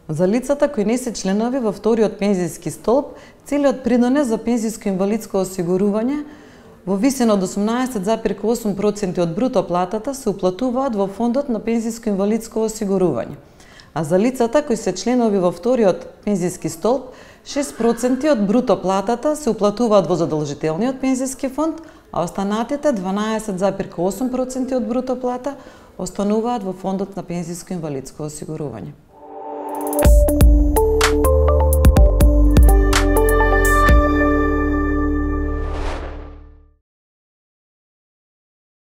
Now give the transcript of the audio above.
За лицата кои не се членови во вториот пензиски столб, целиот придонес за пензиско-инвалидско осигурување во висина од 18,8% од бруто платата се уплатуваат во фондот на пензиско-инвалидско осигурување. А за лицата кои се членови во вториот пензиски столб, 6% од бруто платата се уплатуваат во задолжителниот пензиски фонд, а останатите 12,8% од бруто плата остануваат во фондот на пензиско-инвалидско осигурување.